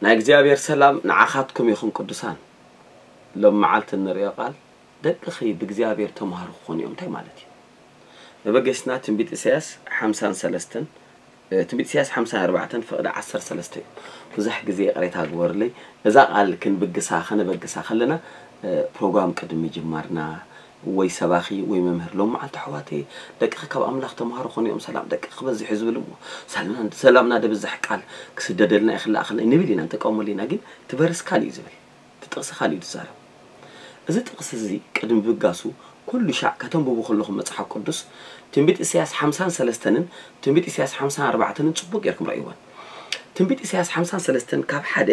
ናይ እግዚኣብሔር ሰላም ንዓኻትኩም ይኹን ቅዱሳን። ሎም መዓልቲ እንርእዮ ቃል ደቅኺ ብእግዚኣብሔር ተምሃሩ ክኾኑ እዮም። እንታይ ማለት እዩ? መበገስና ትንቢት ኢሳያስ ሓምሳን ሰለስተን፣ እ፣ ትንቢት ኢሳያስ ሓምሳን ኣርባዕተን ፍቕዲ ዓሰርተ ሰለስተ እዩ። ብዙሕ ግዜ ይቕሬታ ግበሩለይ። እዛ ቃል ክንብግሳ፣ ከነበግሳ ከለና፣ እ፣ ፕሮግራም ቅድሚ ምጅማርና ወይ ሰባኺ ወይ መምህር፣ ሎም መዓልቲ ኣሕዋተይ ደቅኺ ካብ ኣምላኽ ተምሃሩ ኮኑ እዮም፣ ሰላም ደቅኺ ክበዝሕ እዩ ዝብል እሞ፣ ሰላምና፣ ሰላምና ደብዝሕ ቃል ክስደደልና ይኽላእ ከለና ንብል ኢና፣ ንጥቀመሉ ኢና። ግን እቲ ቨርስ ካልእ እዩ ዝብል፣ እቲ ጥቕሲ ካልእ እዩ ዝዛረብ። እዚ ጥቕሲ እዚ ቅድሚ ብጋሱ ኩሉ ሻዕ ከተንብቡ ከለኹም መጽሓፍ ቅዱስ ትንቢት ኢሳያስ ሓምሳን ሰለስተንን ትንቢት ኢሳያስ ሓምሳን ኣርባዕተንን ጽቡቕ ጌርኩም ረእይወን። ትንቢት ኢሳያስ ሓምሳን ሰለስተን ካብ ሓደ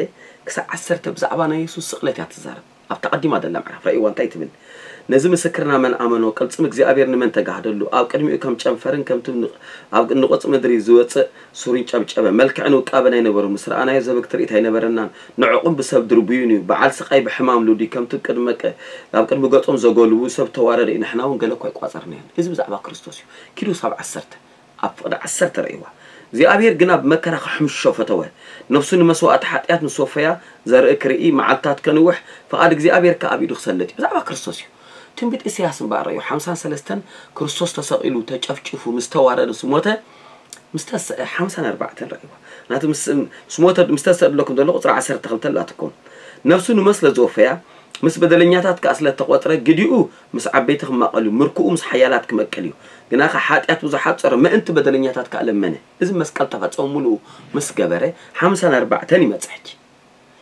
ክሳብ ዓሰርተ ብዛዕባ ናይ የሱስ ስቕለት እያ ትዛረብ። ኣብታ ቀዲማ ዘላ ምዕራፍ ረእይዋ እንታይ ትብል? ነዚ ምስክርና መን ኣመኖ? ቅልጽም እግዚኣብሔር ንመን ተጋህደሉ? ኣብ ቅድሚኡ ከም ጨንፈርን ከምቲ ን-፣ ኣብ ንቑጽ ምድሪ ዝወጽእ ሱሪን ጨብጨበ። መልክዕን ውቃበን ኣይነበሮ፣ ምስ ረኣናዮ ዘበግ ትርኢት ኣይነበረናን። ንዕቑም ብሰብ ድርቡዩን እዩ። በዓል ስቓይ ብሕማም ልዱይ፣ ከምቲ ቅድመ ቀ-፣ ኣብ ቅድሚ ገጾም ዘጎልቡ ሰብ ተዋረደ እዩ። ንሕና እውን ገለ እኳ ኣይቋጸርናዮን። እዚ ብዛዕባ ክርስቶስ እዩ። ኪዱ ሳብ ዓሰርተ፣ ኣብ ፍቕዲ ዓሰርተ ረእይዋ። እግዚኣብሔር ግና ብመከራ ክሕምሾ ፈተወ። ነፍሱ ንመስዋእቲ ሓጢኣት ምስ ወፈያ ዘርኢ ክርኢ፣ መዓልትታት ከንውሕ፣ ፍቓድ እግዚኣብሔር ከኣ ኣብ ኢዱ ክሰልጥ እዩ። ብዛዕባ ክርስቶስ እዩ። ትንቢት ኢሳያስ እምበኣር ረእዩ። ሓምሳን ሰለስተን ክርስቶስ ተሰቒሉ፣ ተጨፍጭፉ፣ ምስ ተዋረደ፣ ምስ ሞተ፣ ምስ ተስዐ፣ ሓምሳን ኣርባዕተን ረእይዋ። ናቲ ምስ፣ ምስ ሞተ፣ ምስ ተስዐ ዝብለኩም ዘሎ ቁጽሪ ዓሰርተ ክልተ ኣላትኩም። ነፍሱ ንሞት ስለ ዝወፈያ፣ ምስ በደለኛታት ከኣ ስለ እተቖጽረ፣ ግዲኡ ምስ ዓበይቲ ክማቐል እዩ፣ ምርኩኡ ምስ ሓያላት ክመቅል እዩ። ግናኸ ሓጢኣት ብዙሓት ጸረ፣ ምእንቲ በደለኛታት ከኣ ለመነ። እዚ መስቀል ተፈጸመ ምሉኡ ምስ ገበረ፣ ሓምሳን ኣርባዕተን ይመጽእ ሕጂ።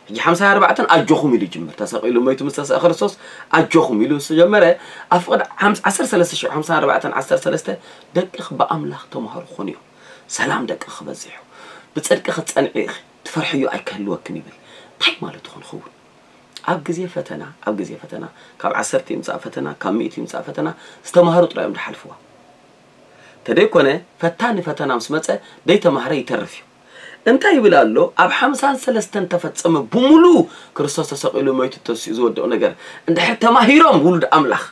ሕጂ ሓምሳን ኣርባዕተን ኣጆኹም ኢሉ ይጅምር። ተሰቒሉ ሞይቱ ምስ ተስዐ ክርስቶስ ኣጆኹም ኢሉ ምስ ጀመረ፣ ኣብ ፍቕዲ ሓምሳ፣ ዓሰርተ ሰለስተ ሽዑ ሓምሳን ኣርባዕተን ዓሰርተ ሰለስተ ደቅኺ ብኣምላኽ ተምሃሩ ክኾኑ እዮም። ሰላም ደቅኺ ክበዝሕ እዩ። ብጽድቂ ክትጸንዒ ኢኺ፣ ትፈርሕዮ ኣይክህልወክን ይብል። እንታይ ማለት ይኾን ክኸውን? ኣብ ግዜ ፈተና፣ ኣብ ግዜ ፈተና፣ ካብ ዓሰርተ ይምጻእ ፈተና፣ ካብ ሚእቲ ይምጻእ ፈተና፣ ዝተማህሩ ጥራይ እዮም ዝሓልፍዋ። ተደይኮነ፣ ፈታኒ ፈተና ምስ መጸ፣ ደይተማህረ ይተርፍ እዩ። እንታይ ይብል ኣሎ? ኣብ ሓምሳን ሰለስተን ተፈጸመ፣ ብምሉኡ ክርስቶስ ተሰቒሉ፣ ሞይቱ፣ ተሲኡ ዝወደኦ ነገር። እንድሕር ተማሂሮም ውሉድ ኣምላኽ፣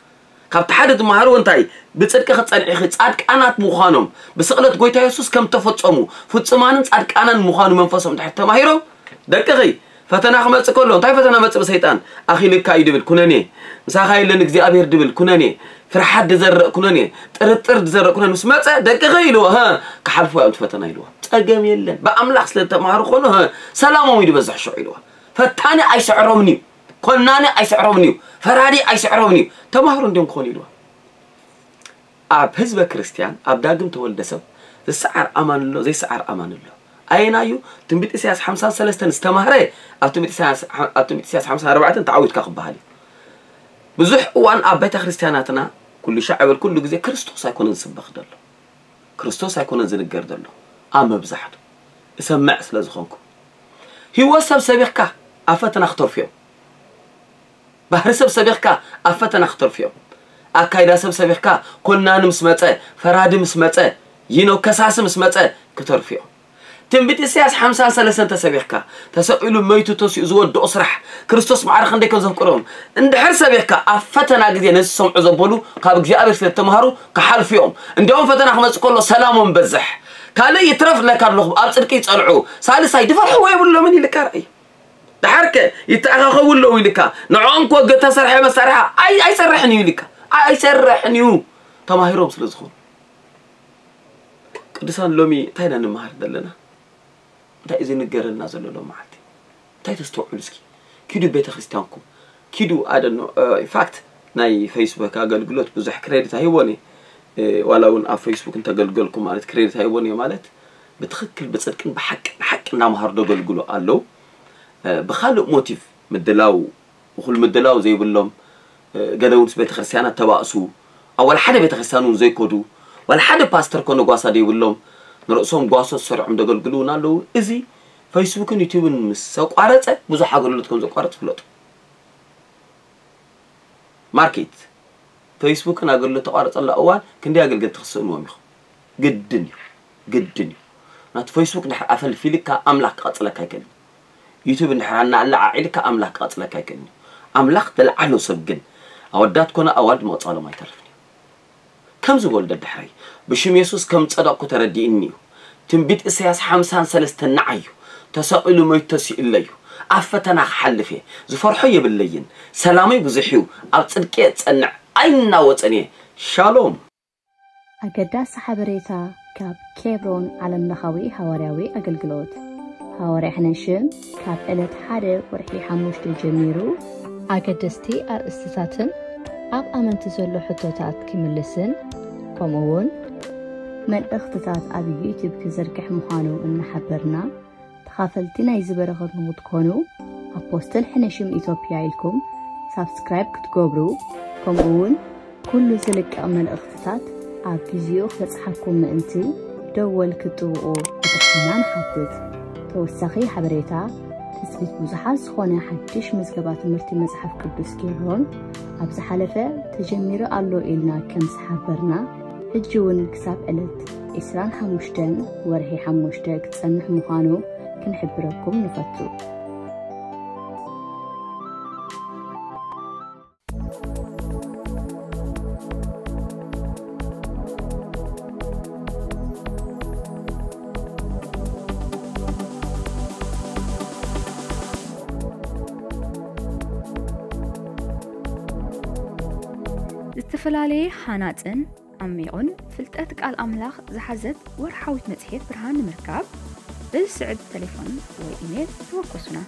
ካብቲ ሓደ ትመሃርዎ እንታይ? ብጽድቂ ክጸንዒኺ ጻድቃናት ምዃኖም፣ ብስቕለት ጎይታ የሱስ ከም ተፈጸሙ፣ ፍጹማንን ጻድቃናን ምዃኑ መንፈሶም እንድሕር ተማሂሮም፣ ደቅኺ ፈተና ክመጽእ ከሎ፣ እንታይ ፈተና መጽእ ብሰይጣን? ኣኺልካ እዩ ድብል፣ ኩነኔ። ምሳኻ የለን እግዚኣብሔር ድብል፣ ኩነኔ። ፍርሓት ድዘርእ ኩነኔ። ጥርጥር ድዘርእ ኩነኔ። ምስ መጸ፣ ደቅኺ ኢልዎ፣ ሀ፣ ክሓልፎ እዮም እቲ ፈተና ኢልዎ። ጸገም የለን። ብኣምላኽ ስለ ዝተማሃሩ ኮኑ፣ ሀ፣ ሰላሞም እዩ ዝበዝሕ ሽዑ ኢልዎ። ፈታኒ ኣይስዕሮምን እዩ። ኮናኒ ኣይስዕሮምን እዩ። ፈራዲ ኣይስዕሮምን እዩ። ተማህሮ እንዲዮም ክኾኑ ኢልዎ። ኣብ ህዝበ ክርስቲያን፣ ኣብ ዳግም ተወልደ ሰብ፣ ዝሰዓር ኣማን ኣሎ፣ ዘይሰዓር ኣማን ኣሎ። ኣየናዩ? ትንቢት ኢሳያስ ሓምሳን ሰለስተን ዝተማህረ፣ ኣብ ትንቢት ኢሳያስ፣ ኣብ ትንቢት ኢሳያስ ሓምሳን ኣርባዕተን ተዓዊትካ ክበሃል እዩ። ብዙሕ እዋን ኣብ ቤተ ክርስቲያናትና፣ ኩሉ ሻዕ በል፣ ኩሉ ግዜ ክርስቶስ ኣይኮነን ዝስበኽ ዘሎ። ክርስቶስ ኣይኮነን ዝንገር ዘሎ። ኣብ መብዛሕቱ እሰምዕ ስለ ዝኾንኩ። ህይወት ሰብ ሰቢኽካ ኣብ ፈተና ክተርፉ እዮም። ባህሪ ሰብ ሰቢኽካ ኣብ ፈተና ክተርፉ እዮም። ኣካይዳ ሰብ ሰቢኽካ ኮናኒ ምስ መጸ፣ ፈራዲ ምስ መጸ፣ ይኖ ከሳሲ ምስ መጸ ክተርፉ እዮም። ትንቢት ኢሳያስ ሓምሳን ሰለስተን ተሰቢኽካ፣ ተሰቒሉ መይቱ ተሲኡ ዝወድኦ ስራሕ፣ ክርስቶስ ማዕረ ክንደይ ከም ዘፍቅሮም እንድሕር ሰቢኽካ፣ ኣብ ፈተና ግዜ ነዚ ዝሰምዑ ዘበሉ ካብ እግዚኣብሔር ስለ ዝተምሃሩ ክሓልፉ እዮም። እንዲያውም ፈተና ክመጽእ ከሎ ሰላሞም በዝሕ። ካልእ ይትረፍ ለካ ኣለኹ፣ ኣብ ጽድቂ ይጸንዑ። ሳልሳይ ድፈርሕዎ የብሎምን ኢልካ ርኣይ። ደሓርከ ይተኣኻኸቡ ኣለዉ ኢልካ፣ ንዕኦም ክወግእ ተሰርሐ መሳርሒ ኣይ-፣ ኣይሰርሕን እዩ ኢልካ። ኣይሰርሕን እዩ። ተማሂሮም ስለ ዝኾኑ። ቅዱሳን ሎሚ እንታይ ኢና ንመሃር ዘለና? እንታይ እዩ ዝንገረና ዘሎ ሎም መዓልቲ? እንታይ ተስተውዕሉ እስኪ? ኪዱ ቤተ ክርስቲያንኩም። ኪዱ፣ I don't know፣ እ፣ in fact፣ ናይ ፌስቡክ ኣገልግሎት ብዙሕ ክሬዲት ኣይህቦን እየ። እ፣ ዋላ እውን ኣብ ፌስቡክ እንተገልገልኩ ማለት ክሬዲት ኣይህቦን እየ ማለት፣ ብትኽክል ብጽድቅን ብሓቅን ሓቂ እናመሃሩ ዘገልግሉ ኣለዉ። እ፣ ብኻልእ ሞቲቭ ምድላው፣ እኹል ምድላው ዘይብሎም፣ እ፣ ገለ እውን ምስ ቤተ ክርስቲያናት ተባእሱ፣ ኣብ ዋላ ሓደ ቤተ ክርስቲያን እውን ዘይከዱ፣ ዋላ ሓደ ፓስተር ኮነ ጓሳ ዘይብሎም፣ ንርእሶም ጓሶት ሰሪዖም ዘገልግሉ እውን ኣለዉ። እዚ ፌስቡክን ዩቲዩብን ምስ ኣቋረጸ፣ ብዙሕ ኣገልግሎት ከም ዘቋርጽ ፍለጡ። ማርኬት፣ ፌስቡክን ኣገልግሎት ተቋረጸላ እዋን፣ ክንደይ ኣገልገልቲ ክትስእንዎም ኢኹም። ግድን እዩ። ግድን እዩ። ናቲ ፌስቡክ እንድሕር ኣፈልፊልካ ኣምላኽ ክቐጽለካ ኣይክእልን። ዩቱብ እንድሕር ኣናኣለዓዒልካ ኣምላኽ ክቐጽለካ ኣይክእልን እዩ። ኣምላኽ ተለዓሎ ሰብ ግን ኣወዳት ኮነ ኣዋልድ ምቕጻሎም ኣይተርፍን እዩ። ከም ዝበሉ ደድሕረይ ብሽም የሱስ ከም ጸደቕኩ ተረዲእኒ እዩ። ትንቢት እሳያስ ሓምሳን ሰለስተን ንዓይ እዩ። ተሰቒሉ መይቱ ተሲኡለይ እዩ። ኣብ ፈተና ክሓልፍ እየ። ዝፈርሖ የብለይን። ሰላመይ ብዙሕ እዩ። ኣብ ጽድቂ እየ ዝጸንዕ። ኣይናወጸን እየ። ሻሎም። ኣገዳሲ ሓበሬታ ካብ ኬብሮን ዓለምለኻዊ ሃዋርያዊ ኣገልግሎት። ሃዋርያ ሕነሽም ካብ ዕለት ሓደ ወርሒ ሓሙሽተ ጀሚሩ ኣገደስቲ ኣርእስትታትን ኣብ ኣመንቲ ዘሎ ሕቶታት ክምልስን ከምኡ እውን መልእኽትታት ኣብ ዩቲዩብ ክዝርግሕ ምዃኑ እናሓበርና ተኻፈልቲ ናይዚ በረኸት ንክትኮኑ ኣፖስትል ሕነሽም ኢትዮጵያ ኢልኩም ሳብስክራይብ ክትገብሩ ከምኡ እውን ኩሉ ዝልቀቕ መልእኽትታት ኣብ ግዚኡ ክበጽሓኩም ምእንቲ ደወል ክትጥውቑ ብትሕትና ንሓትት። ተወሳኺ ሓበሬታ ትጽቢት ብዙሓት ዝኾነ ሓድሽ ምዝገባ ትምህርቲ መጽሓፍ ቅዱስ ኬብሮን ኣብ ዝሓለፈ ተጀሚሩ ኣሎ ኢልና ከም ዝሓበርና ሕጂ እውን ክሳብ ዕለት ዕስራን ሓሙሽተን ወርሒ ሓሙሽተ ክጸንሕ ምዃኑ ክንሕብረኩም ንፈቱ። ዝተፈላለየ ሃናጽን ዓሚቑን ፍልጠት ቃል ኣምላኽ ዝሓዘት ወርሓዊት መጽሔት ብርሃን ንምርካብ በዚ ስዕብ ተሌፎን ወይ ኢሜል ተወከሱና።